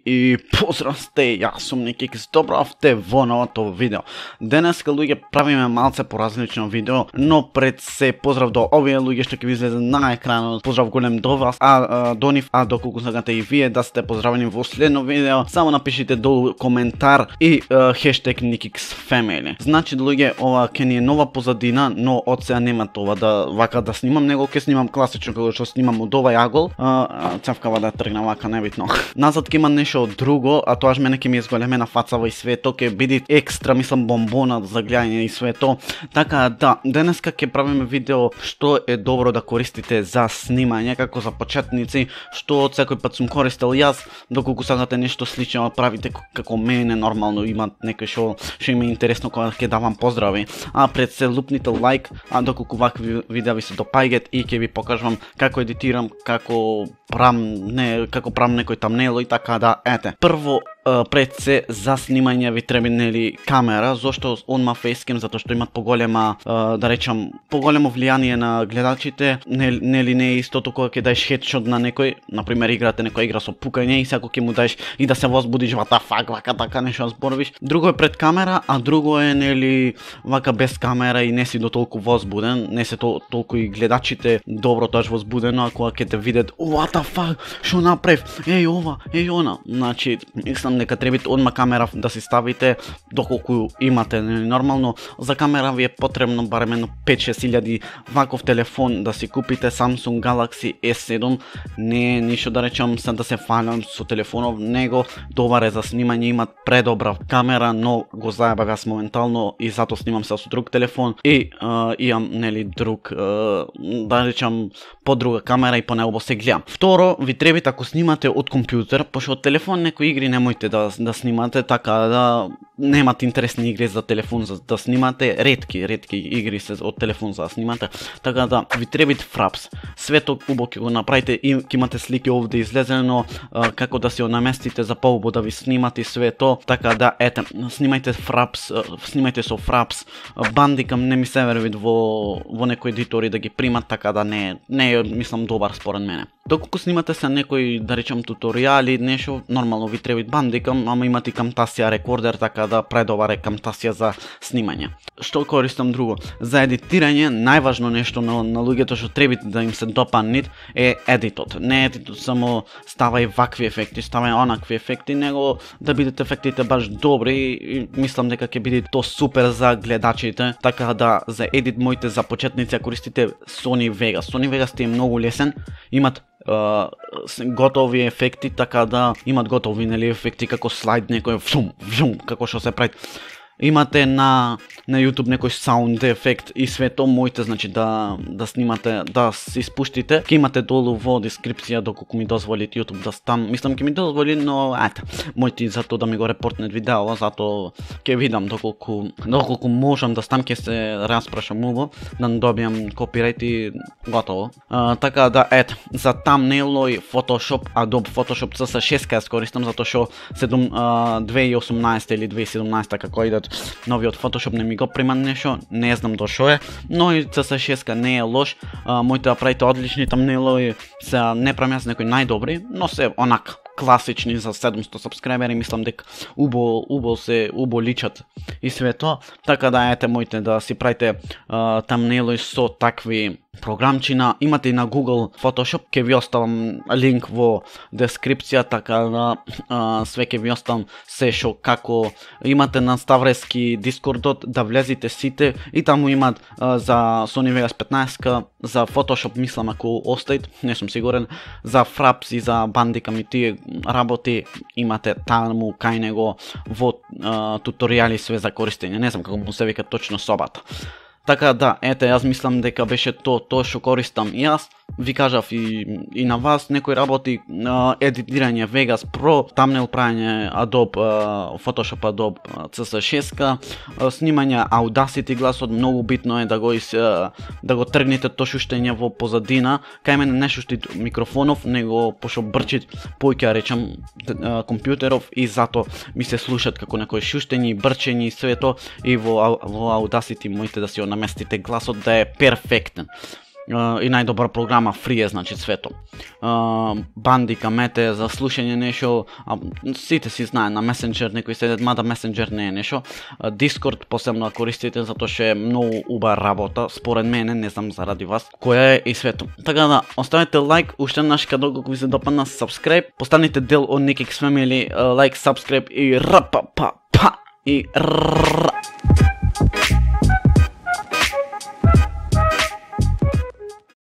И поздрав сте, јас сум Никикс, добравте во новото видео. Денеска луѓе правиме малце поразлично видео, но пред се поздрав до овие луѓе што ќе ви излезе на екранот. Поздрав голем до вас, до нив, доколку сакате и вие да сте поздравени во следно видео, само напишите долу коментар и хештег NikixFamily. Значи луѓе, ова ќе ни е нова позадина, но од сега нема това да вака да снимам, него ќе снимам класично како што снимам од овај агол. Цевкава да тргна вака, небитно. Назад ќе има нешто друго, а тоа мене ќе ми изголемена фацава и свето, ќе биде екстра, мислам, бомбона за гледање и свето. Така да, денеска ќе правиме видео што е добро да користите за снимање, како за почетници, што од секој пат сум користел јас, доколку сакате нешто слично правите како мене, нормално има некој што им е интересно кога ќе давам поздрави. А пред се лупните лайк, доколку вакви видеа ви се допаѓаат и ќе ви покажам како едитирам, како правам некој тамнел и така да, ете. Прво, пред се за снимање ви треба нели камера, зошто онма фейскем, затоа што имат поголема, да речам, поголемо влијание на гледачите, нели не е истото кога ќе даеш хедшот на некој, например играте некоја игра со пукање и секој ќе му даеш и да се возбудиш вата фак, вака така нешто зборувиш. Друго е пред камера, а друго е нели вака без камера и не си до толку возбуден, не се толку и гледачите добро тоа возбудено, а кога ќе те видат, what the fuck, што направив, еј ова, еј она. Значи, мислам дека треба одма камера да си ставите доколку имате, нормално за камера ви е потребно барем едно 5-6 ваков телефон да си купите. Samsung Galaxy S7 не е ништо да речам да се фалам со телефонов, него добар е за снимање, имат предобра камера, но го заебав јас моментално и затоа снимам се со друг телефон и имам нели друг да речам подруга камера и по него се гледам. Второ, ви треба ако снимате од компјутер, пошто од телефон некои игри немојте да снимате, така да немате интересни игри за телефон за да снимате, ретки игри се од телефон за да снимате, така да ви треба фрапс. Свето убаво ќе го направите и ќе имате слики овде излезено како да се наместите за поубаво да ви снимате и свето, така да ете, снимајте фрапс, снимајте со фрапс. Бандикам не ми се верви во некои едитори да ги примат, така да не е мислам добар според мене. Доколку снимате се некои да речам туторијали, нешто нормално ви треба бандикам, ама имате и Camtasia рекордер, така да предобар е Camtasia за снимање. Што користам друго? За едитирање најважно нешто на луѓето што треба да им се допаднет е едитот. Не едитот само ставај вакви ефекти, ставај онакви ефекти, него да бидат ефектите баш добри и мислам дека ќе биде то супер за гледачите. Така да за едит моите за почетници користите Sony Vegas. Sony Vegas е многу лесен, имат готови ефекти, така да имат готови нели ефекти како слайд некој вжум, како што се прави. Имате на YouTube некој саунд ефект и свето моите, значи да снимате, да се испуштите. Ќе имате долу во дескрипција доколку ми дозволи YouTube да стам. Мислам ќе ми дозволи, но ете, моите затоа да ми го репортнет видео, затоа ќе видам доколку можам да стам, ќе се распрашам убаво да не добијам копирајт и готово. Така да ете, за тамнейло и Photoshop, Adobe Photoshop CS6 јас користам затоа што 2018 или 2017 како идат новиот Photoshop не ми го приман нешто, не знам до шо е, но и CS6 не е лош. Моите апарати одлични тамнелови се не правам јас некои најдобри, но се онак класични за 700 сабскрајбери, мислам дека убаво личат и свето. Така да ете моите да си правите тамнелови со такви програмчина. Имате и на Google Photoshop, ќе ви оставам линк во дескрипција, така да све ќе ви оставам се шо како имате на Ставрески Дискордот, да влезите сите и таму имат за Sony Vegas 15, за Photoshop мислам ако оставит, не сум сигурен, за Fraps и за Bandicam и тие работи имате таму кај него во туторијали све за користење, не знам како му се вика точно собата. Така да, ете, јас мислам дека беше тоа што користам јас. Ви кажав и на вас некои работи, едитирање Vegas Pro, тамнел правење Adobe Photoshop, Adobe CS6, снимање Audacity гласот, многу битно е да го тргнете то шуштење во позадина. Кај мене не шуштит микрофонов, него пошто брчит појќе речам компјутеров и зато ми се слушат како некои шуштењи, брчењи и свето, и во Audacity моите да си наместите гласот да е перфектен. и најдобра програма фри е, значи свето. Бандика, мете за слушање нешто, сите си знае на Messenger, некои седат, мада Messenger не е нешто. Discord посебно користите затоа што е многу убава работа, според мене, не знам заради вас, која е и свето. Така да, оставете лайк, уште наш кадог ако ви се допадна, subscribe, постанете дел од Nikix Family, лайк, subscribe и рапа па па и ра.